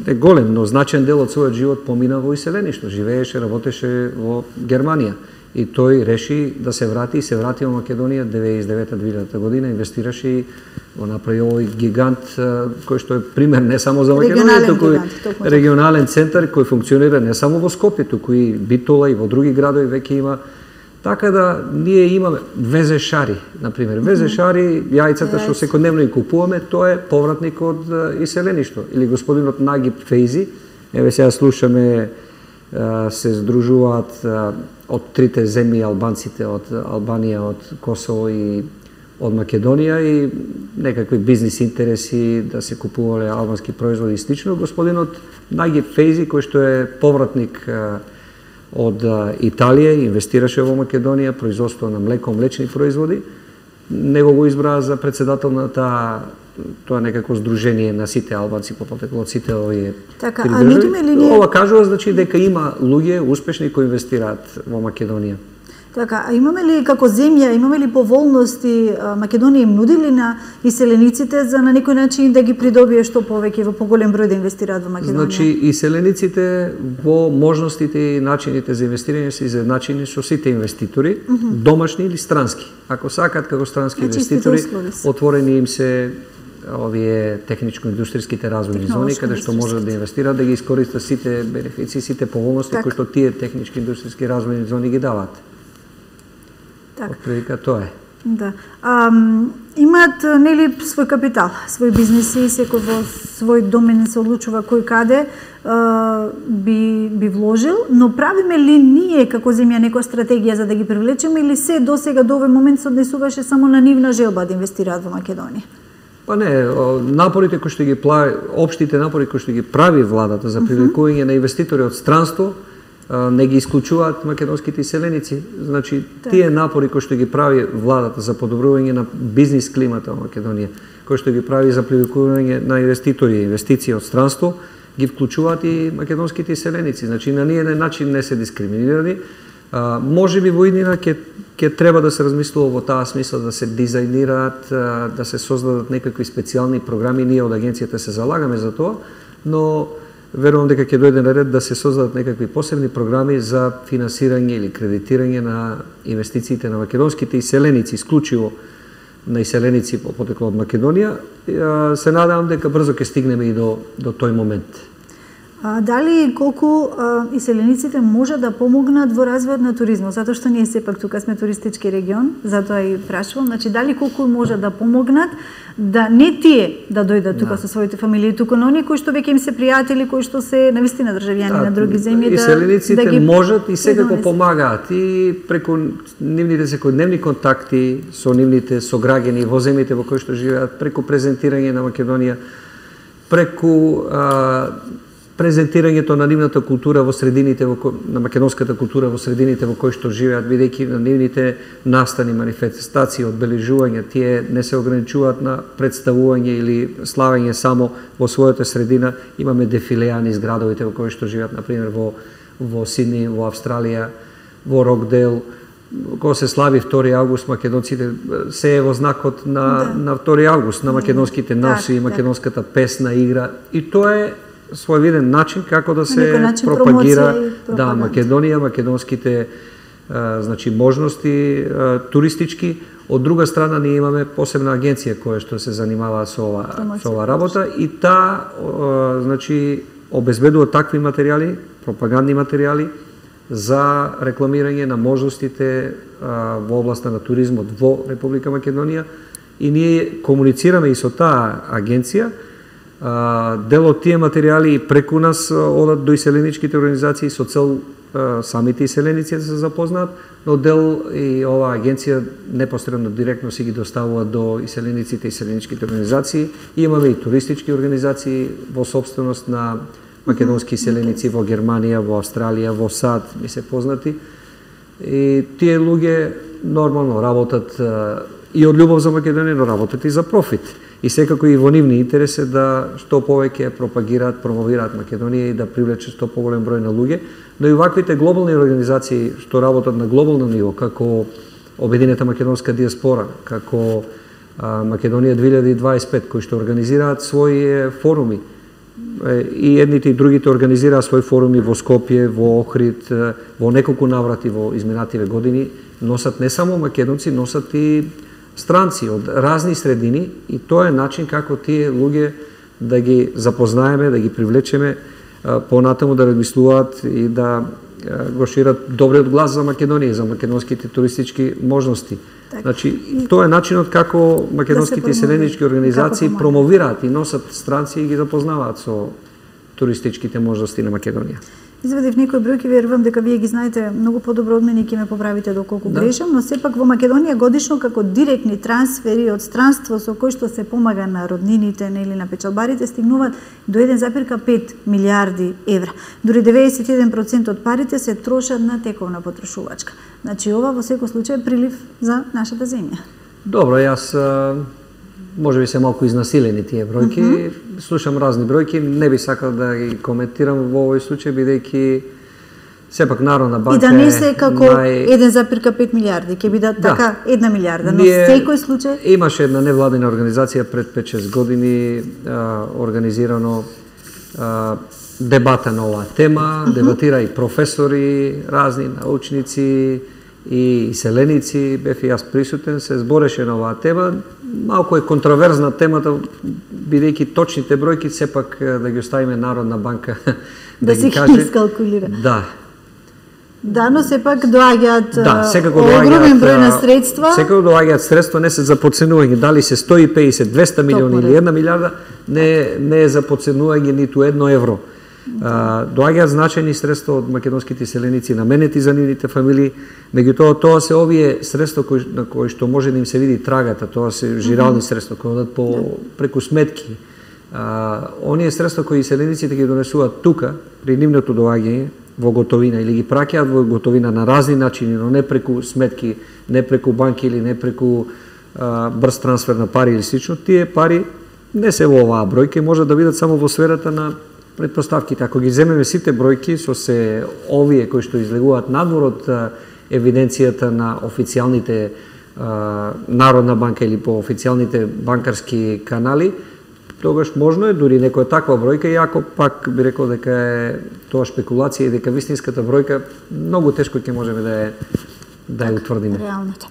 не голем, но значен дел од својот живот помина во иселеништо. Живееше, работеше во Германија. И тој реши да се врати и се врати во Македонија деветдесет и девета две година, инвестираше и го направи овој гигант кој што е пример не само за Македонија, туку и регионален центар кој функционира не само во Скопје, туку и Битола и во други градови веќе има. Така да ние имаме Везе Шари, например. Везе Шари, јајцата што секојдневно ги купуваме, тоа е повратник од иселеништо. Или господинот Нагиб Фейзи, еве сега слушаме, се здружуваат од трите земји албанците, од Албанија, од Косово и од Македонија и некакви бизнис интереси да се купувале албански производи и слично. Господинот Нагиб Фейзи, кој што е повратник од Италија, инвестираше во Македонија, производство на млеко, млечни производи, него го избраа за председател на таа тоа некако здружение на сите албанци по потекло од сите овие. Така, а видиме ли ние... Ова кажува значи дека има луѓе успешни кои инвестираат во Македонија. Така, а имаме ли како земја, имаме ли поволности Македонија им нуди ли на иселениците за на некој начин да ги придобие што повеќе во поголем број да инвестираат во Македонија? Значи иселениците во можностите и начините за инвестирање се изедначени со сите инвеститори, uh -huh. домашни или странски. Ако сакаат како странски значи, инвеститори, отворени им се овие техничко-индустријските развојни зони каде што можат да инвестираат, да ги искористат сите бенефиции, сите поволности кои што тие технички-индустријски развојни зони ги даваат. Така. Отприлика тоа е. Да. А, имаат нели свој капитал, свој бизнеси, секој во свој домен се одлучува кој каде а, би би вложил, но правиме ли ние како земја некоја стратегија за да ги привлечеме или се досега до овој момент се однесуваше само на нивна желба да инвестираат во Македонија? Па не, напорите кои што ги прави, општите напори кои што ги прави владата за привлекување на инвеститори од странство, не ги исклучуваат македонските иселеници. Значи, тие напори кои што ги прави владата за подобрување на бизнис климата во Македонија, кои што ги прави за привлекување на инвеститори и инвестиции од странство, ги вклучуваат и македонските иселеници. Значи, на ниеден начин не се дискриминирани. А, може би во иднина ќе ќе треба да се размислува во таа смисла да се дизајнираат, да се создадат некакви специјални програми. Ние од агенцијата се залагаме за тоа, но верувам дека ќе дојде на ред да се создадат некакви посебни програми за финансирање или кредитирање на инвестициите на македонските иселеници, исклучиво на иселеници по потекло од Македонија. Се надевам дека брзо ќе стигнеме и до, до тој момент. А, дали колку а, иселениците може да помогнат во развојот на туризмот, затоа што ние сепак тука сме туристички регион, затоа и прашувам, значи дали колку може да помогнат да не тие да дојдат тука да. со своите фамилии, туку на оние кои што веќе им се пријатели, кои што се навистина државјани да, на други земји да иселениците да ги можат и секако помагаат и преку нивните секојдневни контакти со нивните сограѓани во земјите во кои што живеат, преку презентирање на Македонија, преку а, презентирањето на нивната култура во средините во ко... на македонската култура во средините во кои што живеат, бидејќи на нивните настани, манифестации, одбележувања, тие не се ограничуваат на представување или славење само во својата средина. Имаме дефилеани из градовите во кои што живеат, например во во Сидни, во Австралија, во Рокдейл. Кога се слави втори август, македонците се е во знакот на да. на втори август, на македонските носи, да, македонската песна, игра, и тоа е своевиден начин како да се начин пропагира да Македонија, македонските а, значи можности а, туристички. Од друга страна ние имаме посебна агенција која што се занимава со ова со ова работа и таа значи обезбедува такви материјали, пропагандни материјали за рекламирање на можностите во областа на туризмот во Република Македонија и ние комуницираме и со таа агенција. Дел од тие материјали преку нас одат до иселеничките организации со цел самите иселеници да се запознаат, но дел и оваа агенција непосредно директно си ги доставува до иселениците и иселеничките организации. И имаме и туристички организации во собственост на македонски иселеници во Германија, во Австралија, во САД, ми се познати. И тие луѓе нормално работат и од љубов за Македонија, но работат и за профит. И секако и во нивни интерес е да што повеќе пропагираат, промовираат Македонија и да привлечат што поголем број на луѓе, но и ваквите глобални организации што работат на глобално ниво, како Обединета македонска диаспора, како Македонија две илјади дваесет и пет, кои што организираат своји форуми. И едните и другите организираат своји форуми во Скопје, во Охрид, во неколку наврати во изминативе години, носат не само македонци, носат и странци од разни средини и тоа е начин како тие луѓе да ги запознаеме, да ги привлечеме понатаму да размислуваат и да го шират добриот глас за Македонија, за македонските туристички можности. Так. Значи, тоа е начинот како македонските да иселенички организации промовираат и носат странци и ги запознаваат со туристичките можности на Македонија. Извадив некои бројки, верувам дека вие ги знаете многу подобро од мене и ќе ме поправите доколку да. грешам, но сепак во Македонија годишно како директни трансфери од странство со кои што се помага на роднините или на печалбарите стигнуваат до еден запир пет милиарди евра. Дури деветдесет и еден процент од парите се трошат на тековна потрошувачка. Значи ова во секој случај е прилив за нашата земја. Добро, јас може би се малку изнасилени тие бројки. Mm -hmm. Слушам разни бројки, не би сакал да ги коментирам во овој случај, бидејќи сепак Народна банка и да не се како нај... еден запир пет милиарди, ќе бидат да. така една милиарда, но Ние... секој случај... Имаше една невладина организација пред пет-шест години, а, организирано а, дебата на оваа тема, mm -hmm. дебатира и професори, разни научници и иселеници, бев и јас присутен, се збореше на оваа тема. Малку е контроверзна темата, бидејќи точните бројки сепак да ги оставиме Народна банка да, да ги се каже. искалкулира. Да. Да, но сепак доаѓаат да, огромен број на средства. Секако доаѓаат средства, не се за подценување, дали се сто и педесет, двеста милиони или една милиарда, не, не е за подценување ниту едно евро. Uh, доаѓаат значајни средства од македонските иселеници наменети за нивните фамилии, меѓутоа тоа се овие средства кои, на кои што може да им се види трагата, тоа се жирални mm -hmm. средства кои одат по преку сметки. Uh, оние средства кои иселениците ги донесуваат тука при нивното доаѓање во готовина или ги праќаат во готовина на разни начини, но не преку сметки, не преку банки или не преку uh, брз трансфер на пари или слично, тие пари не се во оваа бројка и може да бидат само во сферата на предпоставките. Ако ги земеме сите бројки со се овие кои што излегуваат надвор од евиденцијата на официјалните Народна банка или по официјалните банкарски канали, тогаш можно е дури некоја таква бројка, иако пак би рекол дека е тоа шпекулација и дека вистинската бројка многу тешко ќе можеме да ја да ја утврдиме. Реалната.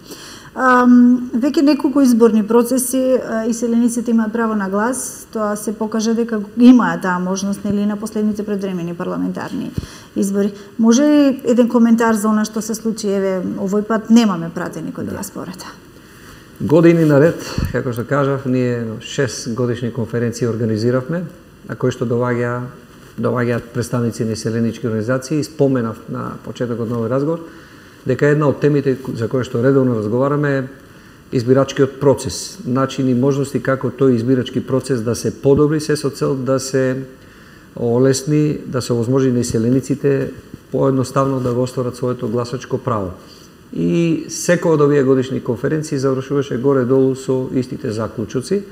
Um, веќе неколку изборни процеси иселениците имаат право на глас, тоа се покажа дека имаат таа можност нели на последните предвремени парламентарни избори. Може ли еден коментар за она што се случи, еве овој пат немаме пратеник од диаспората? Години наред, како што кажав, ние шест годишни конференции организиравме, на кои што доаѓа доаѓаат представници на иселенички организации. Споменав на почетокот на овој разговор дека една од темите за кои што редовно разговараме е избирачкиот процес, начини и можности како тој избирачки процес да се подобри, се со цел да се олесни, да се овозможи на иселениците поедноставно да го остварат своето гласачко право. И секој од овие годишни конференции завршуваше горе-долу со истите заклучоци.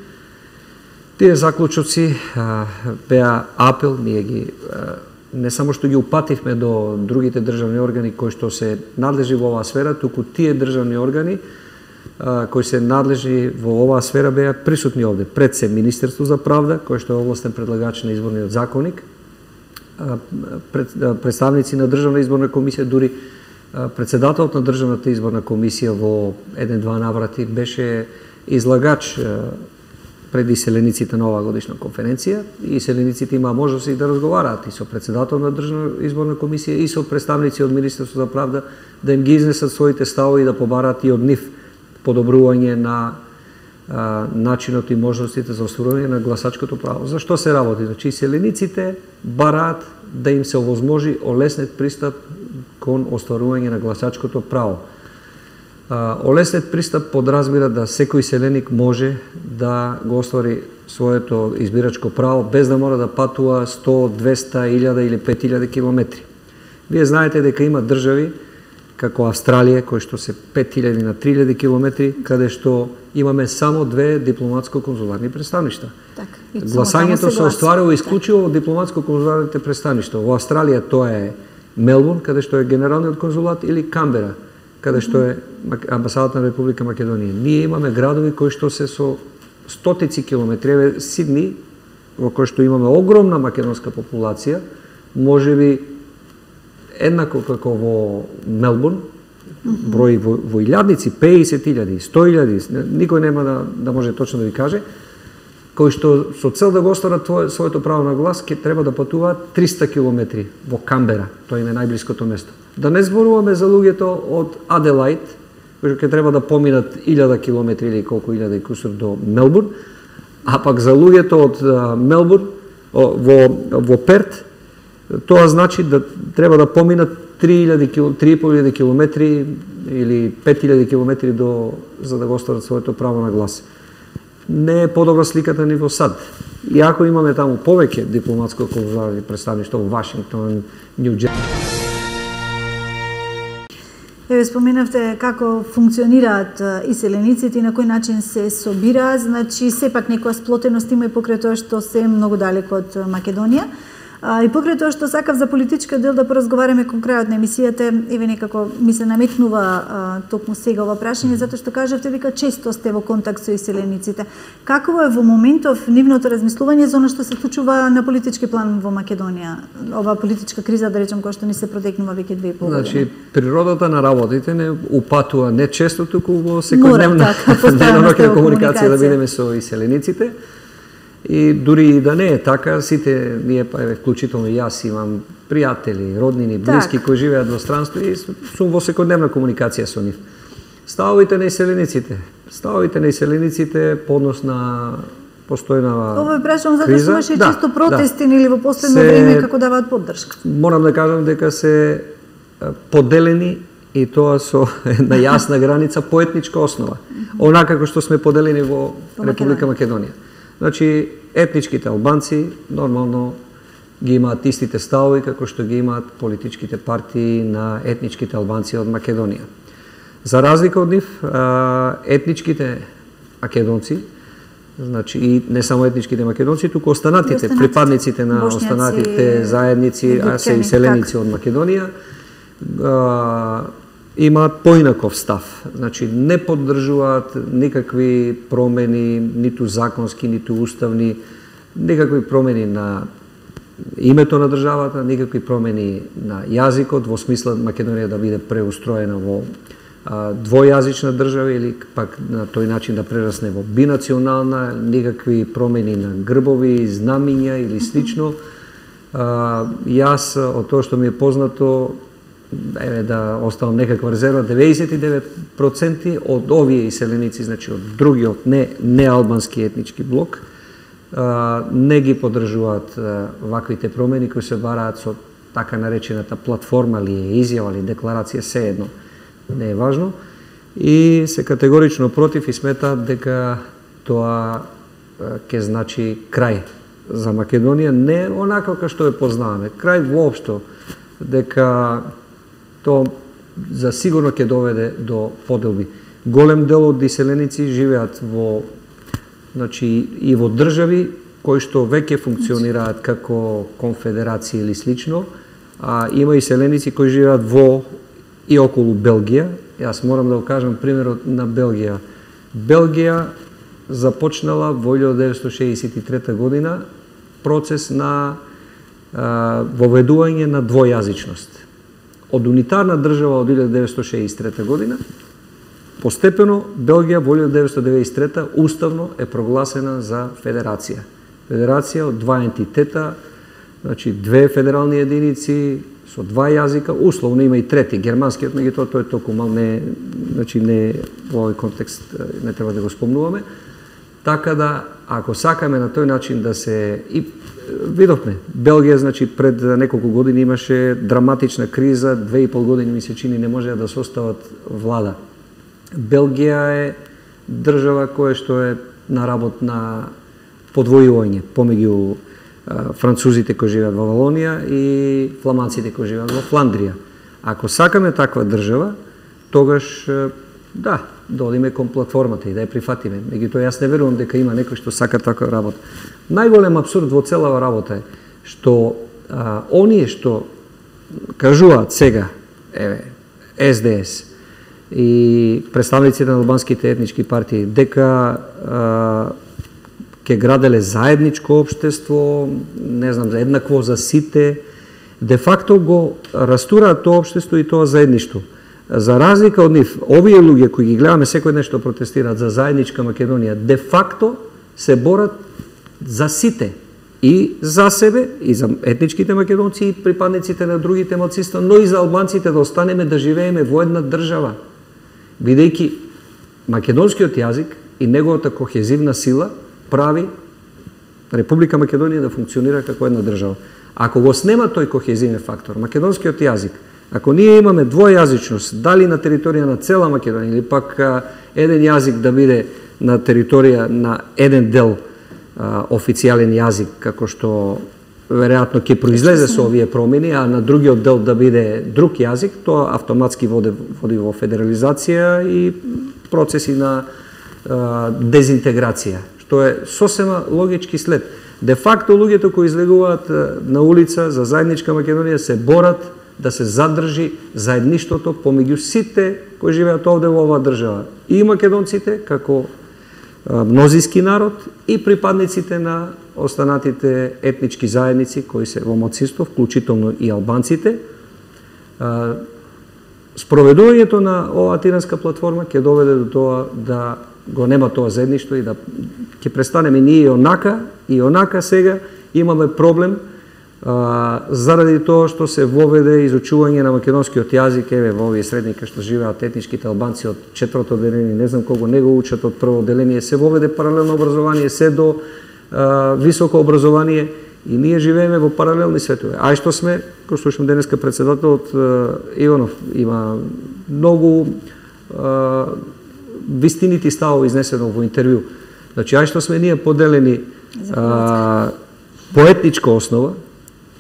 Тие заклучоци а, беа апел, ние ги а, не само што ги упативме до другите државни органи кои што се надлежи во оваа сфера, туку тие државни органи а, кои се надлежи во оваа сфера беа присутни овде. Пред се Министерство за правда, кој што е овластен предлагач на изборниот законник, а, пред, а, представници на Државна изборна комисија, дури а, председателот на Државната изборна комисија во еден-два наврати беше излагач а, пред иселениците на оваа годишна конференција. И иселениците имаа можност и да разговараат и со председател на Државна изборна комисија и со представници од Министерството за правда, да им ги изнесат своите ставови и да побараат и од нив подобрување на а, начинот и можностите за остварување на гласачкото право. За што се работи? Значи, иселениците бараат да им се овозможи олеснет пристап кон остварување на гласачкото право. Олеснет пристап подразбира да секој селеник може да го оствари своето избирачко право без да мора да патува сто, двеста, илјада или пет илјади километри. Вие знаете дека има држави како Австралија, кои што се пет илјади на три илјади километри, каде што имаме само две дипломатско-конзуларни представништа. Так, гласањето се остварува исклучиво од дипломатско-конзуларните представништва. Во Австралија тоа е Мелбурн, каде што е генералниот конзулат, или Камбера, каде што е амбасадата на Република Македонија. Ние имаме градови кои што се со стотици километри. Еве Сидни, во кој што имаме огромна македонска популација, можеби еднакво како во Мелбурн, број во, во илјадници, пеесет илјади, сто илјади, никој нема да, да може точно да ви каже, кои што со цел да го остварат своето право на глас, ќе треба да патуваат триста километри во Камбера, тоа им е најблиското место. Да не зборуваме за луѓето од Аделаид, кои ќе треба да поминат илјада километри или колку илјада и кусур до Мелбурн, а пак за луѓето од Мелбурн во, во Перт, тоа значи да треба да поминат три и по илјади километри или пет илјади километри до, за да го остварат своето право на глас. Не е подобра сликата ни во САД. Иако имаме таму повеќе дипломатско-конзуларни представништва во Вашингтон, Нью Џерси. Еве споменавте како функционираат иселениците и на кој начин се собираат, значи сепак некоја сплотеност има и покрај тоа што се многу далеко од Македонија. А, и покрај тоа што сакав за политичка дел да поразговараме кон крајот на емисијата, еве некако ми се наметнува а, токму сега ова прашање, затоа што кажавте дека често сте во контакт со иселениците. Какво е во моментов нивното размислување за она што се случува на политички план во Македонија? Ова политичка криза, да речем, која што ни се протекнува веќе две и пол години. Значи, природата на работите не упатува не често, туку во секојдневна денонокна комуникација да бидеме со иселениците. И дури и да не е така, сите ние, па еве вклучително и јас имам пријатели, роднини, блиски так, кои живеат во странство и сум во секојдневна комуникација со нив. Ставовите на иселениците, ставовите на иселениците по однос на постојнава Ова е прашам затоа што имаше да, често протести да, или во последно се, време како даваат поддршка. Морам да кажам дека се поделени и тоа со една јасна граница по етничка основа. Онака како што сме поделени во Република Македонија. Значи, етничките албанци нормално ги имаат истите ставови како што ги имаат политичките партии на етничките албанци од Македонија. За разлика од нив, етничките македонци, значи и не само етничките македонци, туку останатите, останатите припадниците на бошњаци, останатите заедници, а се иселеници од Македонија, имаат поинаков став. Значи, не поддржуваат никакви промени, ниту законски, ниту уставни, никакви промени на името на државата, никакви промени на јазикот, во смисла Македонија да биде преустроена во а, двојазична држава или пак на тој начин да прерасне во бинационална, никакви промени на грбови, знамиња или слично. А, јас, од тоа што ми е познато, еве да оставам некаква резерва, деветдесет и девет проценти од овие иселеници, значи од другиот не не албански етнички блок, а, не ги поддржуваат ваквите промени кои се бараат со така наречената платформа или изјава или декларација, се едно, не е важно, и се категорично против и сметаат дека тоа ќе значи крај за Македонија, не онака како што ја познаваме, крај воопшто, дека тоа за сигурно ќе доведе до поделби. Голем дел од иселеници живеат во, значи, и во држави кои што веќе функционираат како конфедерација или слично, а има иселеници кои живеат во и околу Белгија. Јас морам да го кажам примерот на Белгија. Белгија започнала во илјада деветстотини шеесет и трета година процес на а, воведување на двојазичност. Од унитарна држава од илјада деветстотини шеесет и трета година, постепено Белгија во илјадат деветстотини деветдесет и трета уставно е прогласена за федерација. Федерација од два ентитета, значи две федерални единици со два јазика, условно има и трети, германскиот, меѓутоа тој е толку мал, не, значи не во овој контекст не треба да го спомнуваме. Така да, ако сакаме на тој начин да се и видовме, Белгија, значи, пред неколку години имаше драматична криза, две и пол години ми се чини не можеа да состават влада. Белгија е држава која што е на работ на подвојување помеѓу французите кои живеат во Валонија и фламанците кои живеат во Фландрија. Ако сакаме таква држава, тогаш да, да одиме кон платформата и да ја прифатиме. Меѓутоа јас не верувам дека има некој што сака таква работа. Најголем абсурд во целава работа е што а, оние што кажуваат сега, еве, Ес Де Ес и представниците на албанските етнички партии дека а, ќе граделе заедничко општество, не знам, еднакво за сите, де факто го растураат тоа општество и тоа заедништво. За разлика од нив, овие луѓе кои ги гледаме секој ден што протестираат за заедничка Македонија, де факто се борат за сите, и за себе, и за етничките македонци, и припадниците на другите малцинства, но и за албанците да останеме да живееме во една држава, бидејќи македонскиот јазик и неговата кохезивна сила прави Република Македонија да функционира како една држава. Ако го снема тој кохезивен фактор, македонскиот јазик, ако ние имаме двојазичност, дали на територија на цела Македонија или пак а, еден јазик да биде на територија на еден дел а, официјален јазик, како што веројатно ќе произлезе со овие промени, а на другиот дел да биде друг јазик, тоа автоматски води, води во федерализација и процеси на а, дезинтеграција, што е сосема логички след. Де факто луѓето кои излегуваат на улица за заедничка Македонија се борат да се задржи заедништвото помеѓу сите кои живеат овде во оваа држава. И македонците како мнозински народ и припадниците на останатите етнички заедници кои се во малцинство, вклучително и албанците. Спроведувањето на оваа тиранска платформа ќе доведе до тоа да го нема тоа заедништво и да ќе престанеме ние и онака и онака сега имаме проблем а, заради тоа што се воведе изучување на македонскиот јазик, еве во овие средника што живеат етничките албанци од четврто одделение, не знам колку не го учат од прво одделение, се воведе паралелно образование, се до а, високо образование и ние живееме во паралелни светови. Ај што сме, кој слушам денеска председателот Иванов има многу а, вистинити ставови изнесено во интервју. Значи, ај што сме ние поделени а, по етничка основа,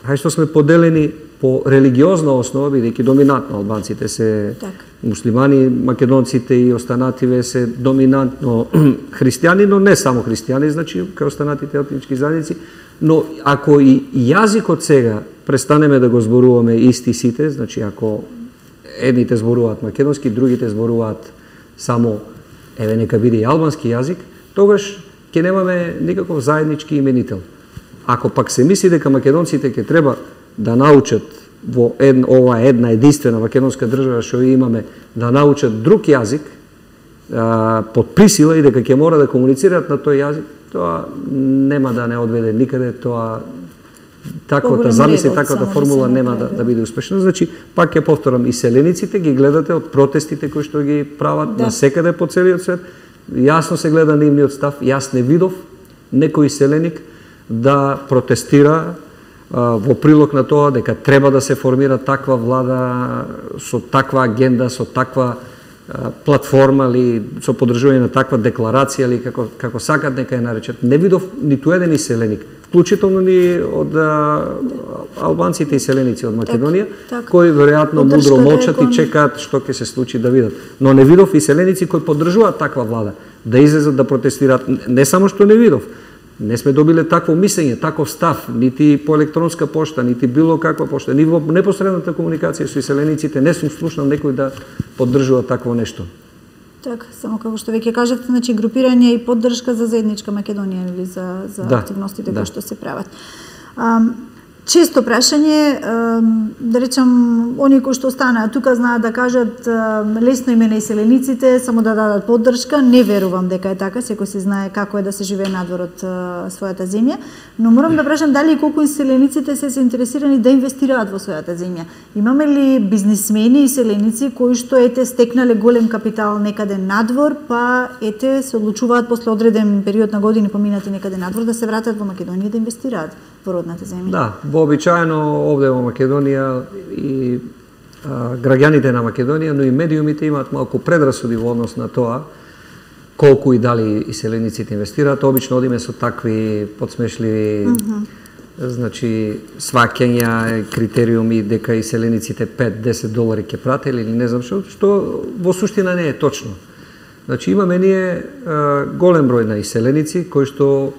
ај што сме поделени по религиозна основа, бидејќи доминантно албанците се так. Муслимани, македонците и останативе се доминантно христијани, но не само христијани, значи, кај останатите етнички заедници, но ако и јазикот сега престанеме да го зборуваме исти сите, значи, ако едните зборуваат македонски, другите зборуваат само, еве, нека биде и албански јазик, тогаш ќе немаме никаков заеднички именител. Ако пак се мисли дека македонците ќе треба да научат во една, ова една единствена македонска држава што имаме, да научат друг јазик а, под присила и дека ќе мора да комуницираат на тој јазик, тоа нема да не одведе никаде, тоа таквата замисли, таквата формула нема да, да биде успешна. Значи, пак ќе повторам, и селениците ги гледате од протестите кои што ги прават да. Насекаде по целиот свет, јасно се гледа нивниот став, јас не видов некој селеник да протестира а, во прилог на тоа дека треба да се формира таква влада со таква агенда, со таква а, платформа или со поддржување на таква декларација или како, како сакат нека ја наречат. Не видов ниту еден селеник, вклучително ни од а, албанците и селеници од Македонија, так, так. Кои веројатно мудро молчат и чекаат што ќе се случи да видат. Но не видов и селеници кои поддржуваат таква влада, да излезат да протестираат. Не само што не видов, не сме добиле такво мислење, таков став, нити по електронска пошта, нити било каква пошта, ни во непосредната комуникација со селениците не сум слушнал некој да поддржува такво нешто. Так, само како што веќе кажавте, значи групирање и поддршка за заедничка Македонија или за за да, активностите да. Кои што се прават. А, често прашање, да речам, они кои што останаа тука знаат да кажат лесно име на иселениците, само да дадат поддршка. Не верувам дека е така, секој се знае како е да се живее надвор од својата земја, но морам да прашам дали и колку иселениците се заинтересирани да инвестираат во својата земја. Имаме ли бизнисмени иселеници кои што ете стекнале голем капитал некаде надвор, па ете се одлучуваат после одреден период на години поминати некаде надвор да се вратат во Македонија да инвестираат во родната земја? Да, вообичаено овде во Македонија и а, граѓаните на Македонија, но и медиумите имаат малку предрасуди во однос на тоа колку и дали иселениците инвестираат. Обично одиме со такви подсмешливи mm -hmm. значи сваќања, критериуми дека иселениците пет до десет долари ќе пратели или не знам што, што во суштина не е точно. Значи имаме ние а, голем број на иселеници кои што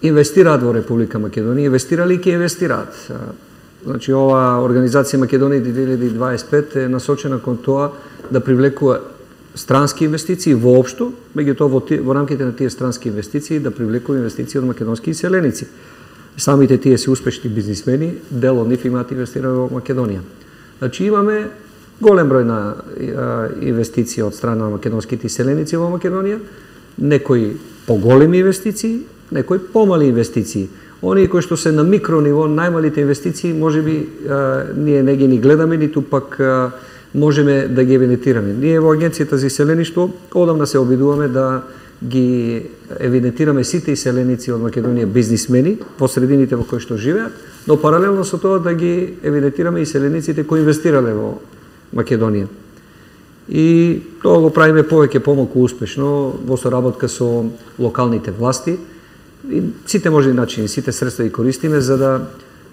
инвестираат во Република Македонија, инвестирали и ќе инвестираат. Значи ова организација Македонија две илјади дваесет и пет е насочена кон тоа да привлекува странски инвестиции воопшто, меѓутоа во, во рамките на тие странски инвестиции да привлекува инвестиции од македонски иселеници. Самите тие се успешни бизнисмени, дел од нив имаат инвестирано во Македонија. Значи имаме голем број на а, инвестиции од страна на македонските иселеници во Македонија, некои поголеми инвестиции, некои помали инвестиции. Оние кои што се на микро ниво, најмалите инвестиции, можеби ние не ги ни гледаме, ниту пак а, можеме да ги евидентираме. Ние во Агенцијата за иселеништво одамна се обидуваме да ги евидентираме сите иселеници од Македонија бизнисмени во средините во кои што живеат, но паралелно со тоа да ги евидентираме иселениците кои инвестирале во Македонија. И тоа го правиме повеќе помалку успешно во соработка со локалните власти. И сите можни начини, сите средства ги користиме за да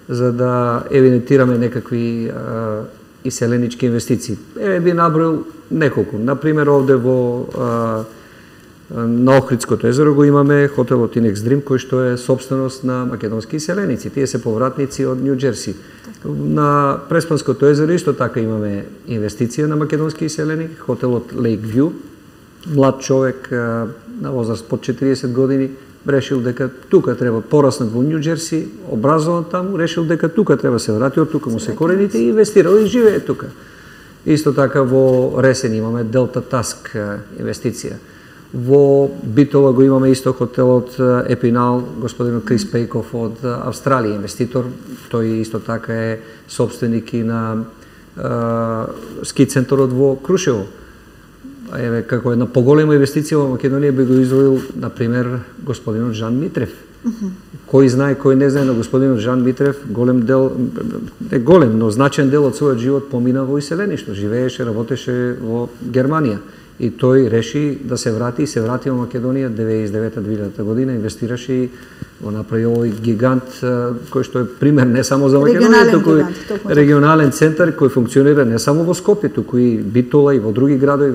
за да евидентираме некакви а, иселенички инвестиции. Е би наброил неколку. На пример овде во а, на Охридското езеро го имаме хотелот Inex Dream кој што е собственост на македонски иселеници. Тие се повратници од Нью Џерси. На Преспанското езеро исто така имаме инвестиција на македонски иселеник, хотелот Lake View. Млад човек а, на возраст под четириесет години решил дека тука треба пораснат во Нью Џерси, образован таму, решил дека тука треба се врати, од тука му се корените и инвестирал и живее тука. Исто така во Ресен имаме Delta Task инвестиција. Во Битола го имаме исто хотелот Епинал, господинот Крис Пејков од Австралија, инвеститор. Тој исто така е собственик и на е, ски центарот во Крушево. Еве, како една поголема инвестиција во Македонија би го издвоил, например, господинот Жан Митрев. Uh -huh. Кој знае, кој не знае на господинот Жан Митрев, голем дел, не голем, но значен дел од својот живот помина во иселеништво. Живееше, работеше во Германија. И тој реши да се врати и се врати во Македонија деветдесет и девета двилјадата година, инвестираше и го направи овој гигант кој што е пример не само за Македонија, туку и регионален центар кој функционира не само во Скопје, туку и Битола и во други градови.